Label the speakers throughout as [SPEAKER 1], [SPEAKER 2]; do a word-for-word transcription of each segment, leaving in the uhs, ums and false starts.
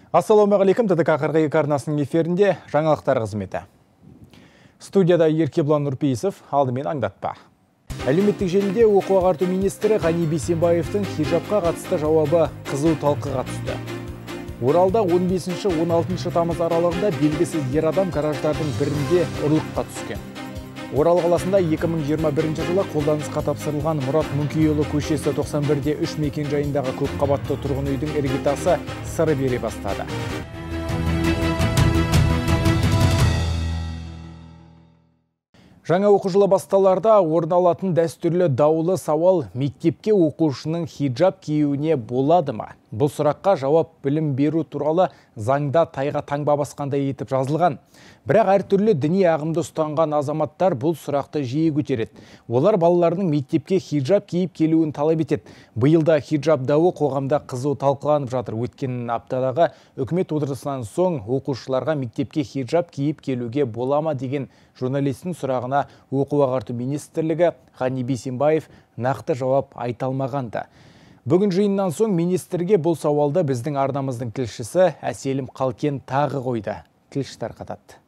[SPEAKER 1] Ассалаумағалейкум, ТДК қырық екі арнасының эфирінде жаңалықтар қызметі. Студияда Еркебұлан Нұрпейісов, алдымен аңдатпа. Әлеуметтік желіде оқу ағарту министрі Ғани Бейсенбаевтың хижабқа қатысты жауабы қызу талқыға түсті. Оралда он бесінші он алтыншы тамыз аралығында белгісіз ер адам гараждардың бірінде ұрлыққа түскен. Орал қаласында екі мың жиырма бірінші жылы қолданысқа тапсырылған Мұрат Мүңкейұлы көшесі тоқсан бірде үш мекен жайындағы көпқабатты тұрғын үйдің іргетасы сыры бере бастады. Жаңа оқу жылы басталарда орын алатын дәстүрлі даулы сауал: мектепке оқушының хиджаб киюіне болады ма? Бұл сұраққа жауап білім беру туралы заңда тайға таңба басқандай етіп жазылған. Бірақ әртүрлі діни ағымды ұстанған азаматтар бұл сұрақты жиі көтереді. Олар балаларының мектепке хиджаб киіп келуін талап етеді. Биылда хиджаб дауы қоғамда қызу талқыланып жатыр. Өткен аптадағы үкімет отырысынан соң оқушыларға мектепке хиджаб киіп келуге бола ма деген журналистің сұрағына оқу ағарту министрлігі Ғани Бейсенбаев нақты жауап айта алмағанды. Бүгін жиыннан соң министрге бұл сауалды біздің арнамыздың тілшісі Әселім Қалкен тағы қойды. Тілші тарқатады.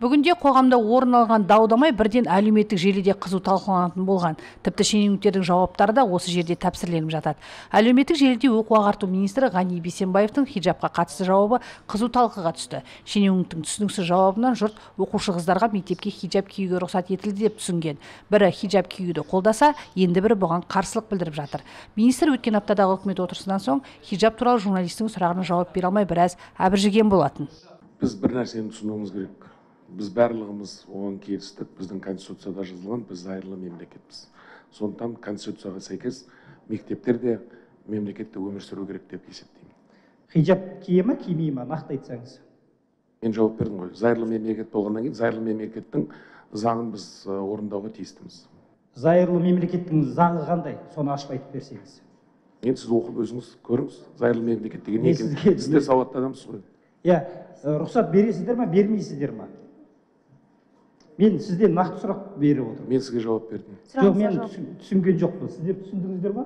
[SPEAKER 2] Бүгінде қоғамда орын алған даудамай бірден әлеуметтік желіде қызу талқыланатын болған. Тіпті шенеуніктердің жауаптары да осы жерде тәпсірленіп жатады. Әлеуметтік желіде оқу ағарту министрі Ғани Бейсенбаевтың хиджабқа қатысты жауабы қызу талқыға түсті. Шенеуніктің түсініксіз жауабынан жұрт оқушы қыздарға мектепке хиджаб киюге рұқсат етілді деп түсінген. Бірі хиджаб киюді қолдаса, енді бірі бұған қарсылық білдіріп жатыр. Министр өткен аптадағы үкімет отырысынан соң хиджаб туралы журналистің сұрағына жауап бере алмай біраз әбіржіген болатын.
[SPEAKER 3] Біз бір нәрсені түсінуіміз керек. Біз барлығымыз оған келістік. Біздің конституцияда жазылған, біз зайырлы мемлекетпіз. Сондықтан конституцияға сәйкес мектептерде мемлекетте өмір сүру керек деп есептеймін.
[SPEAKER 4] Хиджаб кие ма, кимей ма, нақты айтсаңыз?
[SPEAKER 3] Мен жауап бердім ғой. Зайырлы мемлекет болғаннан кейін зайырлы мемлекеттің заңын біз орындауға тиістіміз.
[SPEAKER 4] Зайырлы мемлекеттің заңы қандай? Соны ашып айтып берсеңіз.
[SPEAKER 3] Енді сіз оқып өзіңіз көріңіз. Зайырлы мемлекет деген не екен? Сіз де сауатты адамсыз ғой.
[SPEAKER 4] Иә, рұқсат бересіздер ма, бермейсіздер ма? Мен сізден нақты сұрақ беріп отырмын.
[SPEAKER 3] Мен сізге жауап бердім.
[SPEAKER 4] Жоқ, мен түсінген жоқпын. Сіздер түсіндіңіздер ма?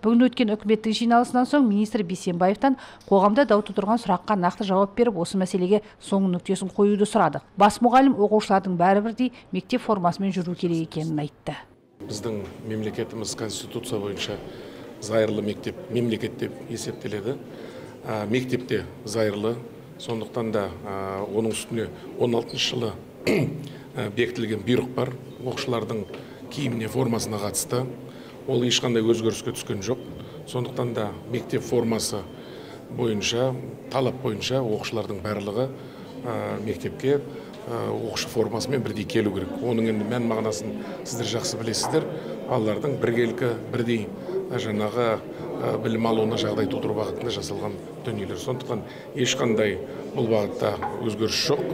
[SPEAKER 2] Бүгін өткен үкіметтің жиналысынан соң министр Бейсенбаевтан қоғамда дау тудырған сұраққа нақты жауап беріп, осы мәселеге соңғы нүктесін қоюды сұрады. Бас мұғалім оқушылардың бәрі бірдей мектеп формасымен жүру керек екенін айтты.
[SPEAKER 3] Біздің мемлекетіміз конституция бойынша зайырлы мектеп, мемлекет деп есептеледі. Мектепте зайырлы, сондықтан да оның үстіне он алтыншы жылы бекітілген бұйрық бар. Оқушылардың киіміне, формасына қатысты. Ол ешқандай өзгеріске түскен жоқ. Сондықтан да мектеп формасы бойынша, талап бойынша оқушылардың барлығы мектепке оқушы формасымен бірдей келу керек. Оның енді мән мағынасын сіздер жақсы білесіздер. Балалардың біркелкі, бірдей жаңағы білім алуына жағдай тудыру бағытында жасалған дүниелер. Сондықтан ешқандай бұл бағытта өзгеріс жоқ.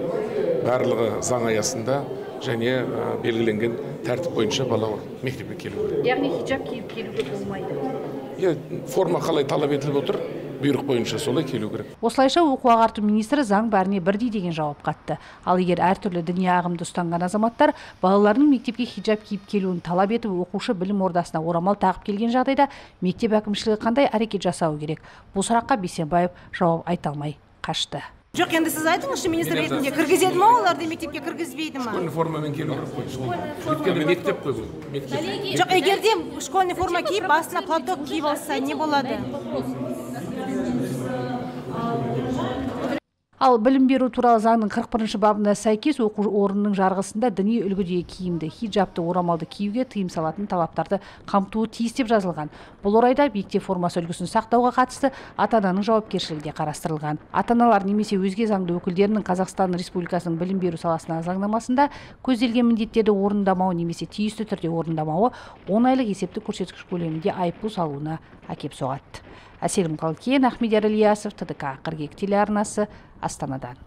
[SPEAKER 3] Барлығы заң аясында және белгіленген тәртіп бойынша бала мектепке келу керек.
[SPEAKER 2] Яғни хиджаб киіп келуге болмайды.
[SPEAKER 3] Форма қалай талап етіліп отыр, бұйрық бойынша солай келу керек.
[SPEAKER 2] Осылайша оқу ағарту министрі заң бәріне бірдей деген жауап қатты. Ал егер әртүрлі діни ағымды ұстанған азаматтар балаларының мектепке хиджаб киіп келуін талап етіп, оқушы білім ордасына орамал тағып келген жағдайда мектеп әкімшілігі қандай әрекет жасауы керек? Бұл сұраққа Бейсенбаев жауап айта алмай қашты.
[SPEAKER 5] Жоқ, енді сіз айтыңызшы, министр ретінде кіргізеді ма, оларды мектепке кіргізбейді ма?
[SPEAKER 3] Школьный формамен келу керек қой. Өйткені мектеп қой бұл.
[SPEAKER 5] Жоқ, егер де школьный форма киіп, басына платок киіп алса, не болады?
[SPEAKER 2] Ал білім беру туралы заңның қырық бірінші бабына сәйкес оқу орнының жарғысында діни үлгідегі киімді, хиджабты, орамалды киюге тыйым салатын талаптарды қамтуы тиіс деп жазылған. Бұл орайда мектеп формасы үлгісін сақтауға қатысты ата-ананың жауапкершілігі де қарастырылған. Ата-аналар немесе өзге заңды өкілдерінің Қазақстан Республикасының білім беру саласындағы заңнамасында көзделген міндеттерді орындамауы немесе тиісті түрде орындамауы он айлық есептік көрсеткіш көлемінде айыппұл салуына әкеп соғады. Әселім Қалкен, Ахмедияр Ильясов, ТДК қырық екі телеарнасы, Астанадан.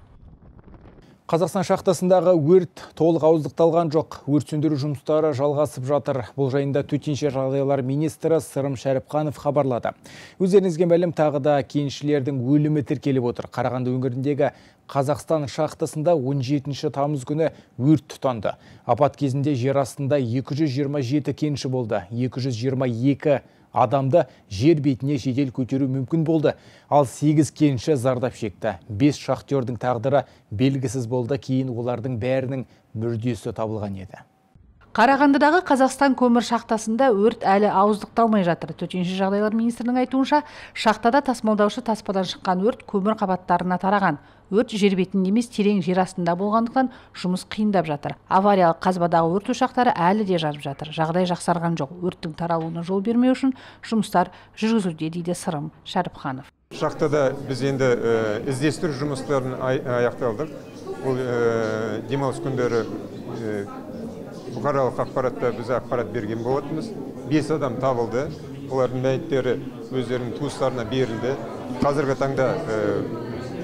[SPEAKER 1] Қазақстан шахтасындағы өрт толық ауыздықталған жоқ. Өрт сөндіру жұмыстары жалғасып жатыр. Бұл жайында төтенше жағдайлар министрі Сырым Шәріпқанов хабарлады. Өздеріңізге мәлім, тағы да кеншілердің өлімі тіркеліп отыр. Қарағанды өңіріндегі Қазақстан шахтасында он жетінші тамыз күні өрт тұтанды. Апат кезінде жер астында екі жүз жиырма жеті кенші болды. екі жүз жиырма екі адамды жер бетіне жедел көтеру мүмкін болды. Ал сегіз кенші зардап шекті. бес шахтердің тағдыры белгісіз болды, кейін олардың бәрінің мүрдесі табылған еді.
[SPEAKER 2] Қарағандыдағы Қазақстан көмір шахтасында өрт әлі ауыздықталмай жатыр. Төтенше жағдайлар министрінің айтуынша, шахтада тасымалдаушы таспадан шыққан өрт көмір қабаттарына тараған. Өрт жер бетінде емес, терең жер астында болғандықтан жұмыс қиындап жатыр. Авариялық қазбадағы өрт ошақтары әлі де жанып жатыр. Жағдай жақсарған жоқ. Өрттің таралуына жол бермеу үшін жұмыстар жүргізілуде, дейді Сырым Шәріпханов.
[SPEAKER 6] Шахтада біз енді іздестіру жұмыстарын аяқталдық. Бұл демалыс күндері бұқаралық ақпаратта біз ақпарат берген болатынбыз. бес адам табылды. Олардың мәйіттері өздерінің туыстарына берілді. Қазіргі таңда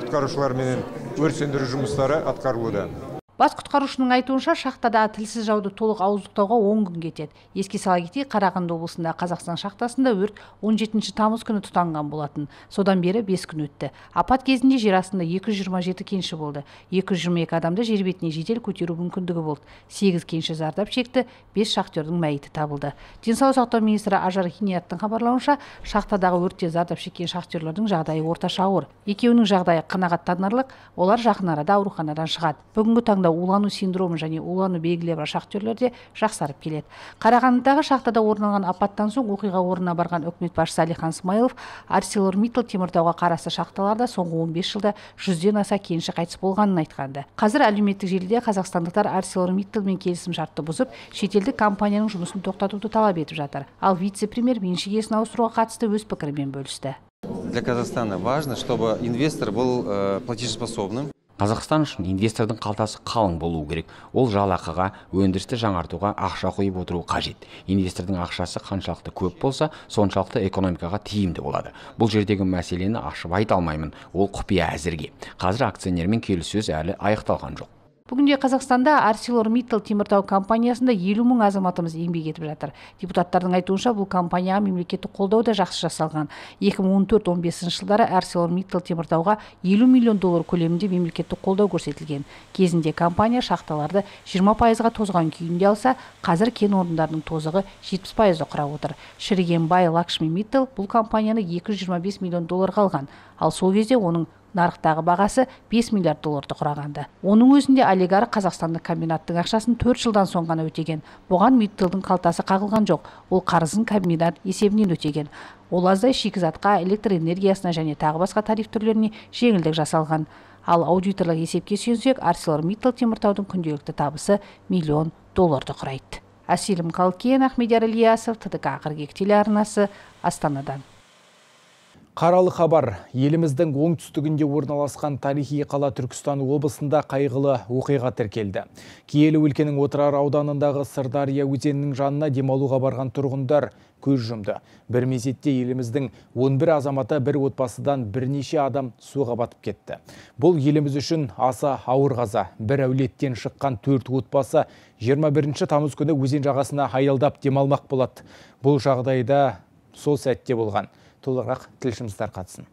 [SPEAKER 6] құтқарушылармен өрт сөндіру жұмыстары атқарылуда.
[SPEAKER 2] Бас құтқарушының айтуынша, шахтада тілсіз жауды толық ауыздықтауға он күн кетеді. Еске сала кетейік, Қарағанды облысында Қазақстан шахтасында өрт он жетінші тамыз күні тұтанған болатын. Содан бері бес күн өтті. Апат кезінде жер астында екі жүз жиырма жеті кенші болды. екі жүз жиырма екі адамды жер бетіне жедел көтеру мүмкіндігі болды. сегіз кенші зардап шекті, бес шахтердің мәйіті табылды. Денсаулық сақтау министрі Ажар Хинияттың хабарлауынша, шахтадағы өртте зардап шеккен шахтерлердің жағдайы орташа ауыр. Екеуінің жағдайы қанағаттанарлық, олар жақын арада ауруханадан шығады. Бүгінгі таңда улану синдромы және улану белгілері бар шахтерлерде жақсарып келеді. Қарағандыдағы шахтада орын алған апаттан соң оқиға орнына барған үкімет басшысы Әлихан Смайылов ArcelorMittal Теміртауға қарасты шахталарда соңғы он бес жылда жүзден аса кенші қайтыс болғанын айтқанды. Қазір әлеуметтік желіде қазақстандықтар ArcelorMittalмен келісім шартты бұзып, шетелдік компанияның жұмысын тоқтатуды талап етіп жатыр. Ал вице-премьер меншік иесін ауыстыруға қатысты өз пікірімен бөлісті.
[SPEAKER 7] Для Казахстана важно, чтобы инвестор был платежеспособным.
[SPEAKER 8] Қазақстан үшін инвестордың қалтасы қалың болуы керек. Ол жалақыға, өндірісті жаңартуға ақша құйып отыру қажет. Инвестордың ақшасы қаншалықты көп болса, соншалықты экономикаға тиімді болады. Бұл жердегі мәселені ашып айта алмаймын. Ол құпия әзірге. Қазір акционермен келіссөз әлі аяқталған жоқ.
[SPEAKER 2] Бүгінде Қазақстанда ArcelorMittal Теміртау компаниясында елу мың азаматымыз еңбек етіп жатыр. Депутаттардың айтуынша, бұл компанияға мемлекеттік қолдау да жақсы жасалған. екі мың он төрт он бесінші жылдары ArcelorMittal Теміртауға елу миллион доллар көлемінде мемлекеттік қолдау көрсетілген. Кезінде компания шахталарды жиырма пайызға тозған күйінде алса, қазір кен орындарының тозығы жетпіс пайызды құрап отыр. Шірігенбай Лакшми Миттал бұл компанияны екі жүз жиырма бес миллион долларға алған. Ал сол кезде оның нарықтағы бағасы бес миллиард долларды құрағанды. Оның өзінде олигарх қазақстандық комбинаттың ақшасын төрт жылдан соң ғана өтеген. Бұған Митталдың қалтасы қағылған жоқ. Ол қарызын комбинат есебінен өтеген. Ол аздай шикізатқа, электр энергиясына және тағы басқа тариф түрлеріне жеңілдік жасалған. Ал аудиторлық есепке сүйенсек, ArcelorMittal Теміртаудың күнделікті табысы миллион долларды құрайды. Әселім Қалкен, Ахмедияр Ильясов, ТДК қырық екі телеарнасы, Астанадан.
[SPEAKER 1] Қаралы хабар. Еліміздің оңтүстігінде орналасқан тарихи қала Түркістан облысында қайғылы оқиға тіркелді. Киелі өлкенің Отырар ауданындағы Сырдария өзенінің жанына демалуға барған тұрғындар көз жұмды. Бір мезетте еліміздің он бір азаматы бір отбасыдан бірнеше адам суға батып кетті. Бұл еліміз үшін аса ауыр қаза. Бір әулеттен шыққан төрт отбасы жиырма бірінші тамыз күні өзен жағасына аялдап демалмақ болады. Бұл жағдайда сол сәтте болған. Толығырақ тілшіміздер қатысын.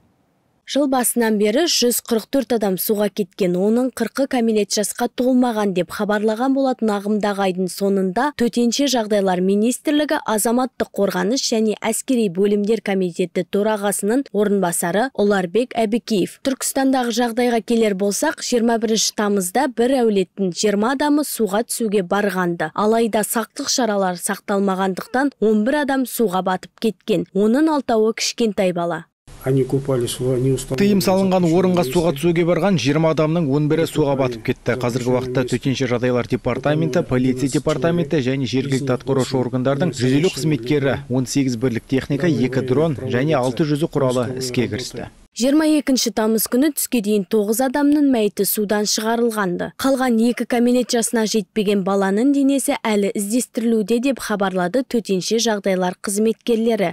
[SPEAKER 9] Жыл басынан бері жүз қырық төрт адам суға кеткен, оның қырқы кәмелет жасқа толмаған деп хабарлаған болатын. Ағымдағы айдың соңында төтенше жағдайлар министрлігі азаматтық қорғаныс және әскери бөлімдер комитеті төрағасының орынбасары Оларбек Әбікеев. Түркістандағы жағдайға келер болсақ, жиырма бірінші тамызда бір әулеттің жиырма адамы суға түсуге барғанды. Алайда сақтық шаралары сақталмағандықтан он бір адам суға батып кеткен. Оның алтауы кішкентай бала.
[SPEAKER 1] Тыйым салынған орынға суға түсуге барған жиырма адамның он бірі суға батып кетті. Қазіргі уақытта төтенше жағдайлар департаменті, полиция департаменті және жергілікті атқарушы органдардың жүз елу қызметкері, он сегіз бірлік техника, екі дрон және алты жүзі құралы іске кірісті.
[SPEAKER 9] жиырма екінші тамыз күні түске дейін тоғыз адамның мәйіті судан шығарылғанды. Қалған екі кәмелет жасына жетпеген баланың денесі әлі іздестірілуде деп хабарлады төтенше жағдайлар қызметкерлері.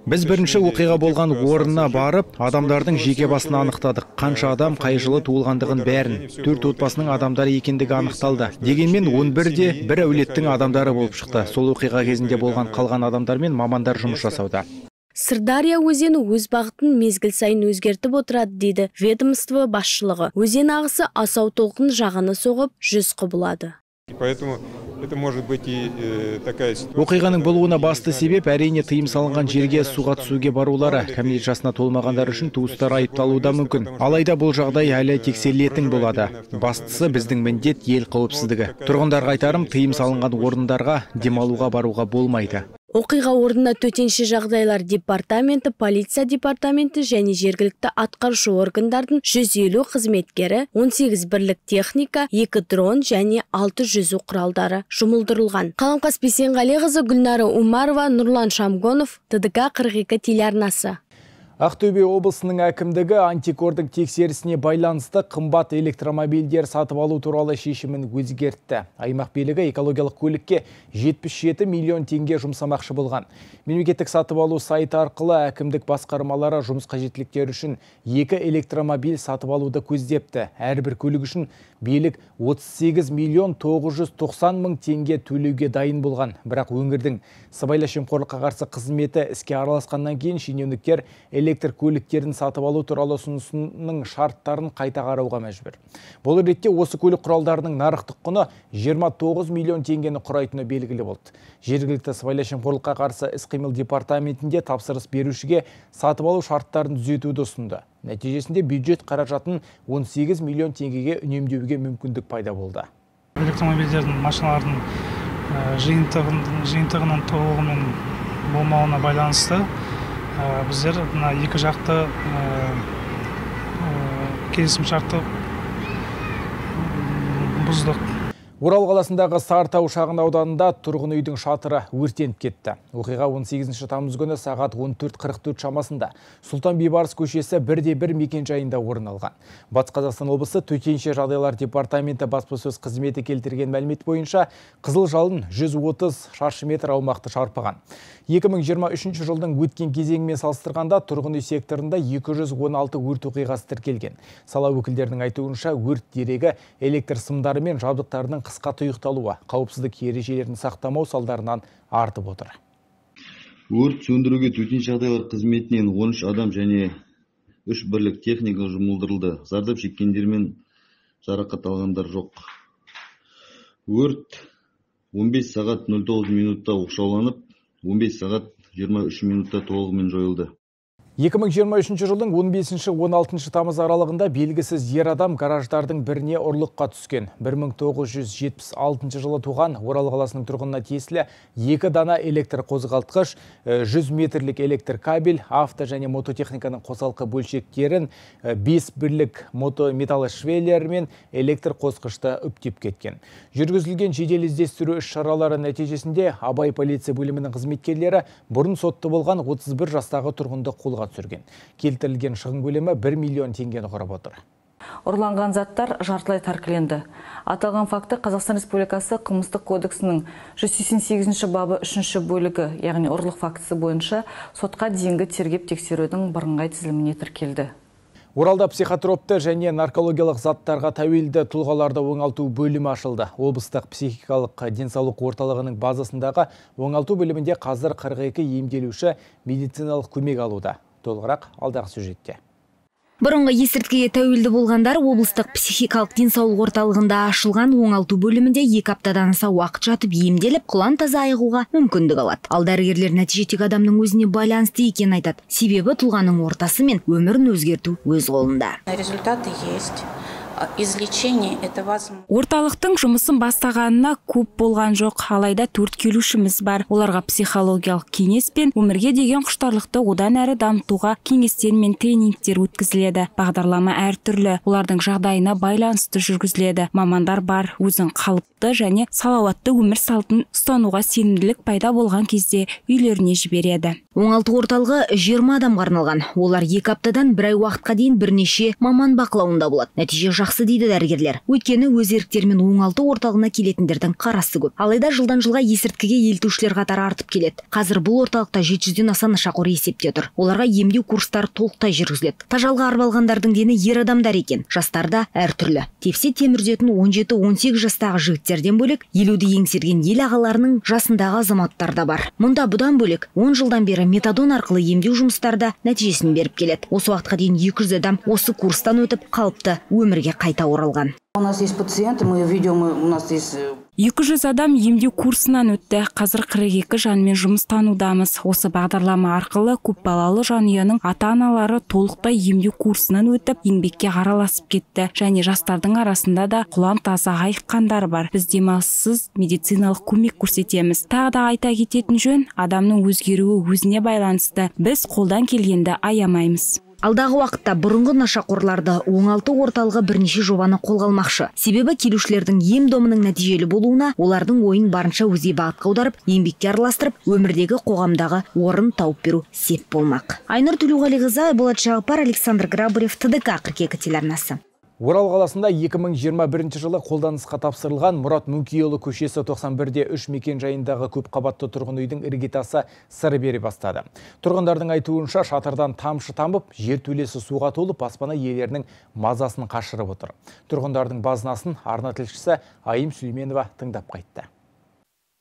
[SPEAKER 1] Біз бірінші оқиға болған орнына барып, адамдардың жеке басын анықтадық. Қанша адам қай жылы туылғандығын бәрін, төрт отбасының адамдары екендігі анықталды. Дегенмен он бірде бір әулеттің адамдары болып шықты. Сол оқиға кезінде болған қалған адамдармен мамандар жұмыс жасауда.
[SPEAKER 9] Сырдария өзені өз бағытын мезгіл сайын өзгертіп отырады, дейді ведомство басшылығы. Өзен ағысы асау толқын жағаны соғып жүз құбылады.
[SPEAKER 6] Поэтому Это может быть и такая ситуация.
[SPEAKER 1] Оқиғаның болуына басты себеп әрине тыйым салынған жерге суға түсуге барулары. Кәмелет жасына толмағандар үшін туыстар айыпталуы мүмкін. Алайда бұл жағдай әлі тексерілетін болады. Бастысы біздің міндет ел қауіпсіздігі. Тұрғындарға айтарым, тыйым салынған орындарға демалуға баруға болмайды.
[SPEAKER 9] Оқиға орнына төтенше жағдайлар департаменті, полиция департаменті және жергілікті атқарушы органдардың жүз елу қызметкері, он сегіз бірлік техника, екі дрон және алты жүзу құралдары жұмылдырылған. Қаламқас Бейсенғалиқызы, Гүлнары Умарова, Нұрлан Шамгонов, Т Д К қырық екі телеарнасы.
[SPEAKER 1] Ақтөбе облысының әкімдігі антикордың тексерісіне байланысты қымбат электромобильдер сатып алу туралы шешімін өзгертті. Аймақ билігі экологиялық көлікке жетпіс жеті миллион теңге жұмсамақшы болған. Мемлекеттік сатып алу сайты арқылы әкімдік басқармалары жұмыс қажеттіліктері үшін екі электромобиль сатып алуды көздепті. Әрбір көлік үшін билік отыз сегіз миллион тоғыз жүз тоқсан мың теңге төлеуге дайын болған. Бірақ өңірдің сыбайлас жемқорлыққа қарсы қызметі іске араласқаннан кейін шенеуніктер электр көліктерін сатып алу туралы ұсынысының шарттарын қайта қарауға мәжбүр. Бұл ретте осы көлік құралдарының нарықтық құны жиырма тоғыз миллион теңгені құрайтыны белгілі болды. Жергілікті сыбайлас жемқорлыққа қарсы іс-қимыл департаментінде тапсырыс берушіге сатып алу шарттарын түзетуді ұсынды. Нәтижесінде бюджет қаражатын он сегіз миллион теңгеге үнемдеуге мүмкіндік пайда болды.
[SPEAKER 10] Электромобильдердің, машиналардың жиынтығының толығымен болмауына байланысты біздер екі жақты келісім шартты бұздық.
[SPEAKER 1] Орал қаласындағы Сарытау шағын ауданында тұрғын үйдің шатыры өртеніп кетті. Оқиға он сегізінші тамыз күні сағат он төрт қырық төрт шамасында Сұлтан Бейбарыс көшесі бірде бір мекенжайында орын алған. Батыс Қазақстан облысы төтенше жағдайлар департаменті баспасөз қызметі келтірген мәлімет бойынша қызыл жалын жүз отыз шаршы метр аумақты шарпыған. екі мың жиырма үшінші жылдың өткен кезеңімен салыстырғанда тұрғын үй секторында екі жүз он алты өрт оқиғасы тіркелген. Сала өкілдерінің айтуынша өрт дерегі электр сымдары мен жабдықтарының қысқа тұйықталуы, қауіпсіздік ережелерін сақтамау салдарынан артып отыр.
[SPEAKER 11] Өрт сөндіруге төтенше жағдайлар қызметінен он үш адам және үш бірлік техника жұмылдырылды. Зардап шеккендер мен жарақат алғандар жоқ. Өрт он бес сағат нөл тоғыз минутта оқшауланып, он бес сағат жиырма үш минутта толығымен жойылды.
[SPEAKER 1] екі мың жиырма үшінші жылдың он бесінші он алтыншы тамыз аралығында белгісіз ер адам гараждардың біріне ұрлыққа түскен. бір мың тоғыз жүз жетпіс алтыншы жылы туған Орал қаласының тұрғынына тиесілі екі дана электр қозғалтқыш, жүз метрлік электр кабель, авто және мототехниканың қосалқы бөлшектерін, бес бірлік мотометалл швеллер мен электр қосқышты үптеп кеткен. Жүргізілген жедел іздестіру іс-шаралары нәтижесінде Абай полиция бөлімінің қызметкерлері бұрын сотты болған отыз бір жастағы тұрғынды қолға түсірген. Келтірілген шығын көлемі бір миллион теңгені құрап отыр.
[SPEAKER 12] Ұрланған заттар жартылай тәркіленді. Аталған факты Қазақстан Республикасы қылмыстық кодексінің жүз сексен сегізінші бабы үшінші бөлігі, яғни ұрлық фактісі бойынша сотқа дейінгі тергеп тексерудің бірыңғай тізіліміне тіркелді.
[SPEAKER 1] Оралда психотропты және наркологиялық заттарға тәуелді тұлғаларды оңалту бөлімі ашылды. Облыстық психикалық денсаулық орталығының базасындағы оңалту бөлімінде қазір қырық екі емделуші медициналық көмек алуда. Толығырақ алдағы сюжетте.
[SPEAKER 13] Бұрынғы есірткіге тәуелді болғандар облыстық психикалық денсаулық орталығында ашылған оңалту бөлімінде екі аптадан аса уақыт жатып емделіп, құлан таза айығуға мүмкіндік алады. Ал дәрігерлер нәтиже тек адамның өзіне байланысты екенін айтады. Себебі тұлғаның ортасы мен өмірін өзгерту өз қолында.
[SPEAKER 14] Результаты есть. Излечение это возможно.
[SPEAKER 15] Орталықтың жұмысын бастағанына көп болған жоқ, алайда төрт келушіміз бар. Оларға психологиялық кеңес пен өмірге деген құштарлықты одан әрі дамытуға кеңестер мен тренингтер өткізіледі. Бағдарлама әртүрлі, олардың жағдайына байланысты жүргізіледі. Мамандар бар, өзін қалыпты және салауатты өмір салтын ұстануға сенімділік пайда болған кезде үйлеріне жібереді.
[SPEAKER 13] Оңалту орталығы жиырма адамға арналған. Олар екі аптадан бір ай уақытқа дейін бірнеше маман бақылауында болады. Нәтиже жақсы дейді дәрігерлер. Өйткені өз еріктерімен оңалту орталығына келетіндердің қарасы көп. Алайда жылдан жылға есірткіге елтушілер қатары артып келеді. Қазір бұл орталықта жеті жүзден аса нашақор есепте тұр. Оларға емдеу курстары толықтай жүргізіледі. Тажалға арып алғандардың дені ер адамдар екен. Жастарда әртүрлі. Тепсе темірдетін он жеті он сегіз жастағы жігіттерден бөлек елуді еңсерген ел ағаларының жасындағы азаматтар да бар. Мұнда бұдан бөлек он жылдан бері метадон арқылы емдеу жұмыстарда нәтижесін беріп келеді. Осы уақытқа дейін екі жүз адам осы курстан өтіп қалыпты өмірге қайта оралған.
[SPEAKER 14] У нас есть пациенты, мы ведем, у нас есть...
[SPEAKER 15] екі жүз адам емдеу курсынан өтті. Қазір қырық екі жанмен жұмыстанудамыз. Осы бағдарлама арқылы көпбалалы жанұяның ата-аналары толықтай емдеу курсынан өтіп, еңбекке араласып кетті. Және жастардың арасында да құлан таза айыққандар бар. Біз демалыссыз медициналық көмек көрсетеміз. Тағы да айта кететін жөн, адамның өзгеруі өзіне байланысты. Біз қолдан келгенді аямаймыз.
[SPEAKER 13] Алдағы уақытта бұрынғы нашақорларды оңалту орталығы бірнеше жобаны қолға алмақшы. Себебі келушілердің ем-домының нәтижелі болуына олардың ойын барынша өзге бағытқа аударып, еңбекке араластырып, өмірдегі қоғамдағы орын тауып беру сеп болмақ. Айнұр Төлеуғалиқызы, Болат Жағыпар, Александр Грабарев, Т Д К қырық екі телеарнасы.
[SPEAKER 1] Орал қаласында екі мың жиырма бірінші жылы қолданысқа тапсырылған Мұрат Мүңкейұлы көшесі тоқсан бірде үш мекен жайындағы көп қабатты тұрғын үйдің іргетасы сыр бере бастады. Тұрғындардың айтуынша шатырдан тамшы тамып, жертөлесі суға толып, баспана иелерінің мазасын қашырып отыр. Тұрғындардың базынасын арна тілшісі Айым Сүлейменова тыңдап қайтты.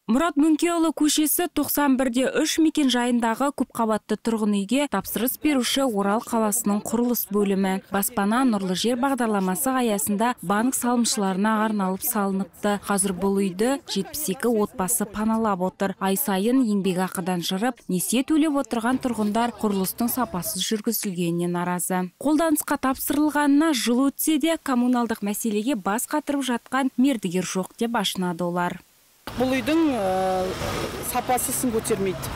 [SPEAKER 15] Мұрат Мүңкейұлы көшесі тоқсан бірде үш мекен жайындағы көпқабатты тұрғын үйге тапсырыс беруші Орал қаласының құрылыс бөлімі. Баспана нұрлы жер бағдарламасы аясында банк салымшыларына арналып салыныпты. Қазір бұл үйді жетпіс екі отбасы паналап отыр. Ай сайын еңбекақыдан жырып, несие төлеп отырған тұрғындар құрылыстың сапасыз жүргізілгеніне наразы. Қолданысқа тапсырылғанына жыл өтсе де коммуналдық мәселеге бас қатырып жатқан мердігер жоқ деп ашынады олар.
[SPEAKER 16] Бұл үйдің сапасы сын көтермейді.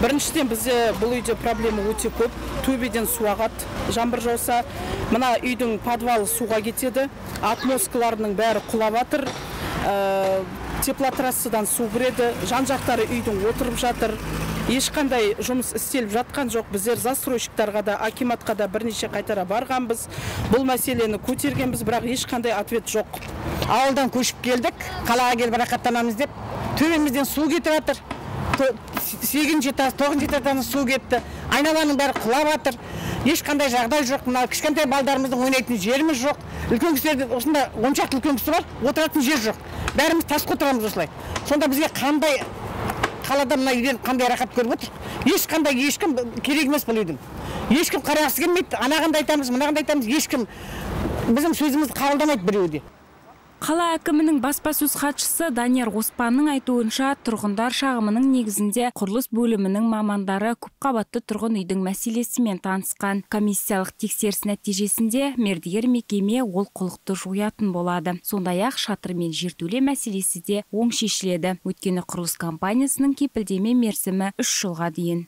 [SPEAKER 16] Біріншіден бізде бұл үйде проблема өте көп. Төбеден су ағады. Жаңбыр жауса, мына үйдің подвалы суға кетеді. Атмоскаларының бәрі құлап жатыр. Теплотрассадан су кіреді. Жан-жақтары үйдің отырып жатыр. Ешқандай жұмыс істеліп жатқан жоқ. Біздер застройщиктарға да, акиматқа да бірнеше қайтара барғанбыз. Бұл мәселені көтергенбіз, бірақ ешқандай ответ жоқ.
[SPEAKER 17] Ауылдан көшіп келдік, қалаға келіп рақаттанамыз деп, төбемізден су кетіп жатыр. сегізінші этаж, тоғызыншы этаждан су кетті. Айналаның бәрі құлап жатыр. Ешқандай жағдай жоқ. Мына кішкентай балдарымыздың ойнайтын жеріміз жоқ. Үлкен кісілерде осында он шақты үлкен кісі бар, отыратын жер жоқ. Бәріміз тасқа отырамыз осылай. Сонда бізге қандай қалада мына үйден қандай рақат көріп отыр? Ешқандай ешкім керек емес бұл үйдің. Ешкім қарағысы келмейді. Анағанды айтамыз, мынағанды айтамыз. Ешкім біздің сөзімізді қабылдамайды біреуде.
[SPEAKER 15] Қала әкімінің баспасөз хатшысы Данияр Оспанның айтуынша, тұрғындар шағымының негізінде құрылыс бөлімінің мамандары көпқабатты тұрғын үйдің мәселесімен танысқан. Комиссиялық тексеріс нәтижесінде мердігер мекеме олқылықты жоятын болады. Сондай-ақ шатыр мен жертөле мәселесі де оң шешіледі. Өйткені құрылыс компаниясының кепілдеме мерзімі үш жылға дейін.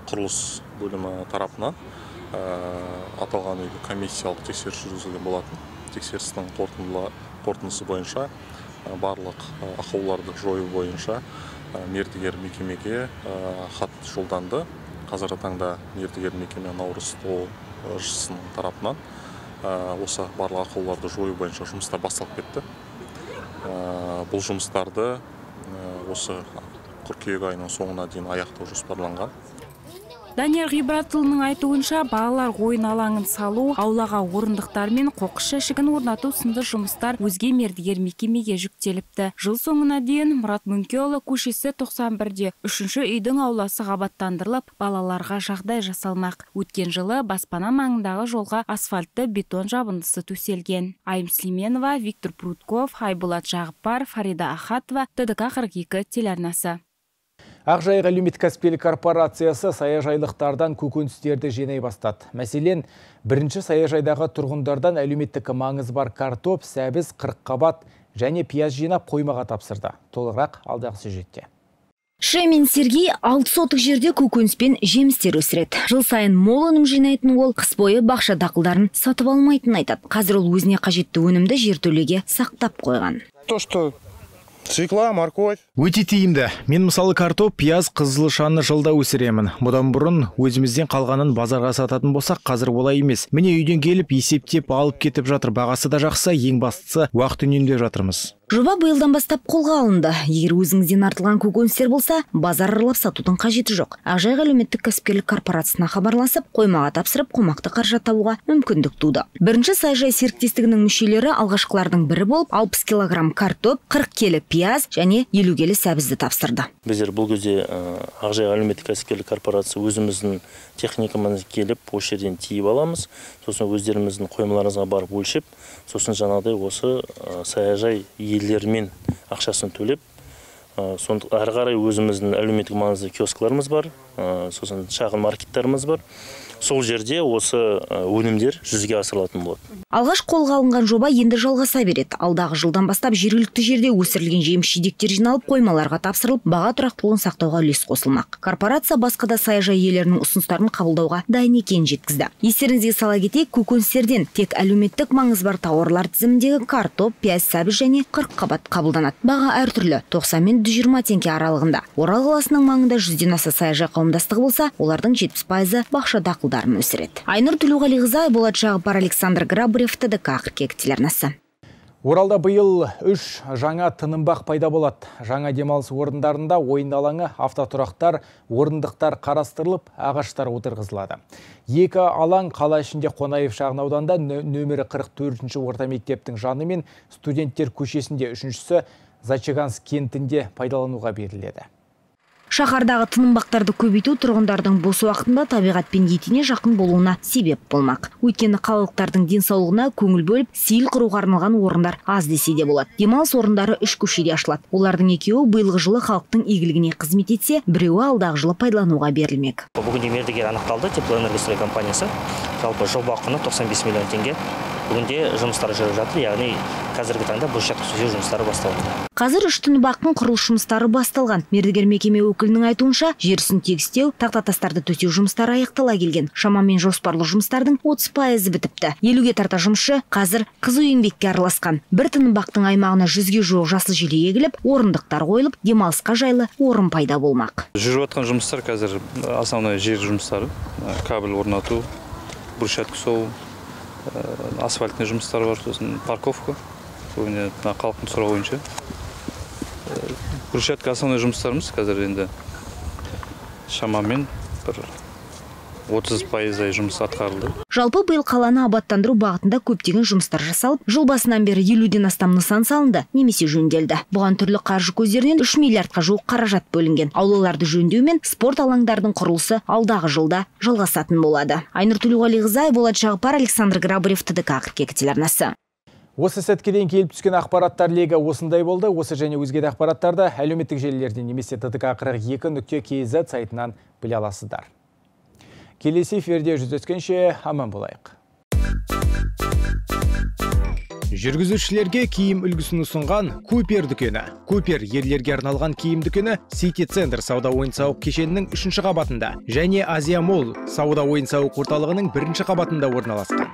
[SPEAKER 18] Құрылыс бөлімі тарапынан аталған үйді комиссиялық тексеріс жүргізілген болатын. Тексерістің қорытындысы бойынша барлық ақауларды жою бойынша мердігер мекемеге хат жолданды. Қазіргі таңда мердігер мекеме Наурыз ТО-шысының тарапынан осы барлық ақауларды жою бойынша жұмыстар басталып кетті. Бұл жұмыстарды осы қыркүйек айының соңына дейін аяқтау жоспарланған.
[SPEAKER 15] Данияр Ғибратұлының айтуынша, балалар ойын алаңын салу, аулаға орындықтар мен қоқыс жәшігін орнату сынды жұмыстар өзге мердігер мекемеге жүктеліпті. Жыл соңына дейін Мұрат Мүңкейұлы көшесі тоқсан бірде үшінші үйдің ауласы қабаттандырылып, балаларға жағдай жасалмақ. Өткен жылы баспана маңындағы жолға асфальтты бетон жабындысы төселген. Айым Сүлейменова, Виктор Прутков, Болат Жағыпар, Фарида Ахатова, Т Д К қырық екі телеарнасы.
[SPEAKER 1] Ақжайық әлеуметтік кәсіпкерлік корпорациясы саяжайлықтардан көкөністерді жинай бастады. Мәселен, бірінші саяжайдағы тұрғындардан әлеуметтік маңызы бар картоп, сәбіз, қырыққабат және пияз жинап қоймаға тапсырды. Толығырақ алдағы сюжетте.
[SPEAKER 13] Шемен Сергей алты сотық жерде көкөніс пен жемістер өсіреді. Жыл сайын мол өнім жинайтын ол қыс бойы бақша дақылдарын сатып алмайтынын айтады. Қазір ол өзіне қажетті өнімді жертөлеге сақтап қойған.
[SPEAKER 19] То, что свекла, морковь.
[SPEAKER 1] Өте тиімді. Мен мысалы картоп, пияз, қызылшаны жылда өсіремін. Бұдан бұрын өзімізден қалғанын базарға сататын болсақ, қазір олай емес. Міне үйден келіп, есептеп алып кетіп жатыр. Бағасы да жақсы, ең бастысы уақыт үнемдеп жатырмыз.
[SPEAKER 13] Жоба биылдан бастап қолға алынды. Егер өзіңізден артылған көкөністер болса, базар аралап сатудың қажеті жоқ. Ақжайық әлеуметтік кәсіпкерлік корпорациясына хабарласып, қоймаға тапсырып, қомақты қаржы табуға мүмкіндік туды. Бірінші саяжай серіктестігінің мүшелері алғашқылардың бірі болып, алпыс килограмм картоп, қырық келі пияз және елу келі сәбізді тапсырды.
[SPEAKER 20] Біздер бұл кезде Ақжайық әлеуметтік кәсіпкерлік корпорация өзіміздің техникамен келіп, осы жерден тиіп аламыз. Сосын өздеріміздің қоймаларымызға барып өлшеп, сосын жаңағыдай осы саяжай иелерімен ақшасын төлеп, әрі қарай өзіміздің әлеуметтік маңызды киоскларымыз бар, сосын шағын маркеттарымыз бар. Сол жерде осы өнімдер жүзеге асырылатын болады.
[SPEAKER 13] Алғаш қолға алынған жоба енді жалғаса береді. Алдағы жылдан бастап жергілікті жерде өсірілген жеміс-жидектер жиналып, қоймаларға тапсырылып, баға тұрақтылығын сақтауға үлес қосылмақ. Корпорация басқа да саяжай иелерінің ұсыныстарын қабылдауға дайын екенін жеткізді. Естеріңізге сала кетейік, көкөністерден тек әлеуметтік маңызы бар тауарлар тізіміндегі картоп, пияз, сәбіз және қырыққабат қабылданады. Баға әртүрлі, тоқсан мен жүз жиырма теңге аралығында. Орал қаласының маңында жүзден аса саяжай қауымдастығы болса, олардың жетпіс пайызы бақша дақылдарын өсіреді. Айнұр Төлеуғалиқызы, Болат Жағыпар, Александр Грабарев, Т Д К қыркүйек телеарнасы.
[SPEAKER 1] Оралда биыл үш жаңа тынымбақ пайда болады. Жаңа демалыс орындарында ойын алаңы, автотұрақтар, орындықтар қарастырылып, ағаштар отырғызылады. Екі алаң қала ішінде Қонаев шағын ауданда нөмірі қырық төртінші орта мектептің жаны мен студенттер көшесінде, үшіншісі Зачаганск кентінде пайдалануға беріледі.
[SPEAKER 13] Шаһардағы тынымбақтарды көбейту тұрғындардың бос уақытында табиғатпен етене жақын болуына себеп болмақ. Өйткені қалалықтардың денсаулығына көңіл бөліп, сейіл құруға арналған орындар аз десе де болады. Демалыс орындары үш көшеде ашылады. Олардың екеуі биылғы жылы халықтың игілігіне қызмет етсе, біреуі алдағы жылы пайдалануға берілмек.
[SPEAKER 21] Бүгінде мердігер анықталды, Теплоэнергострой компаниясы. Жалпы жоба құны тоқсан бес миллион теңге. Бүгінде жұмыстары жүріп жатыр, яғни қазіргі таңда брусчатка төсеу жұмыстары басталды.
[SPEAKER 13] Қазір үш тынымбақтың құрылыс жұмыстары басталған. Мердігер мекеме өкілінің айтуынша, жерсін тегістеу, тақтатастарды төсеу жұмыстары аяқтала келген. Шамамен жоспарлы жұмыстардың отыз пайызы бітіпті. елуге тарта жұмысшы қазір қызу еңбекке араласқан. Бір тынымбақтың аймағына жүзге жуық жасыл желек егіліп, орындықтар қойылып, демалысқа жайлы орын пайда болмақ.
[SPEAKER 22] Жүріп жатқан жұмыстар қазір основной жер жұмыстары, кабель орнату, брусчатка соғу, асфальтный жұмыстар бар, сосын парковка, көбіне халықтың сұрауы бойынша. Брусчатка основной жұмыстарымыз қазір енді шамамен бір отыз пайыздай жұмыс атқарылды.
[SPEAKER 13] Жалпы биыл қаланы абаттандыру бағытында көптеген жұмыстар жасалып, жыл басынан бері елуден астам нысан салынды, немесе жөнделді. Бұған түрлі қаржы көздерінен үш миллиардқа жуық қаражат бөлінген. Аулаларды жөндеу мен спорт алаңдардың құрылысы алдағы жылда жалғасатын болады. Айнұр Төлеуғалиқызы, Болат Жағыпар, Александр Грабарев, Т Д К қыркүйек телеарнасы.
[SPEAKER 1] Осы сәтке дейін келіп түскен ақпараттар легі осындай болды. Осы және өзге де ақпараттарды әлеуметтік желілерден немесе Т Д К қырық екі нүкте К З сайтынан біле аласыздар. Келесі эфирде жүздескенше аман болайық. Жүргізушілерге киім үлгісін ұсынған Купер дүкені. Купер ерлерге арналған киім дүкені Сити Центр сауда ойын-сауық кешенінің үшінші қабатында және Азия Молл сауда ойын-сауық орталығының бірінші қабатында орналасқан.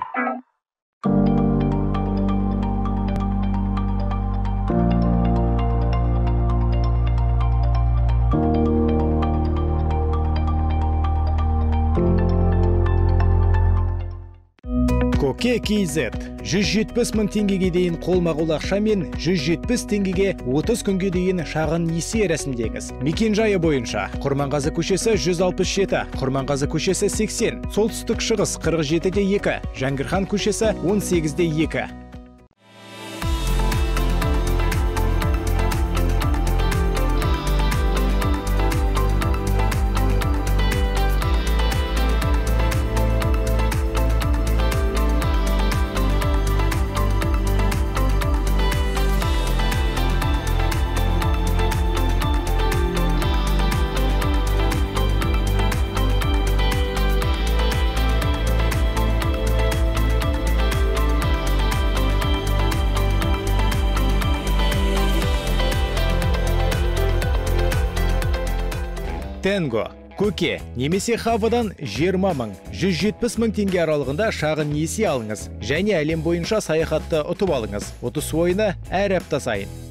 [SPEAKER 1] Коке К З жүз жетпіс мың теңгеге дейін қолма-қол ақша мен жүз жетпіс теңгеге отыз күнге дейін шағын несие рәсімдеңіз. Мекен-жайы бойынша Құрманғазы көшесі жүз алпыс жеті, Құрманғазы көшесі сексен, солтүстік шығыс қырық жетіде екі, Жәңгірхан көшесі он сегізде екі. Тенго, Көке, немесе Хавадан жиырма мың, жүз жетпіс мың теңге аралығында шағын несие алыңыз және әлем бойынша саяхатты ұтып алыңыз. Ұтыс ойыны әр апта сайын.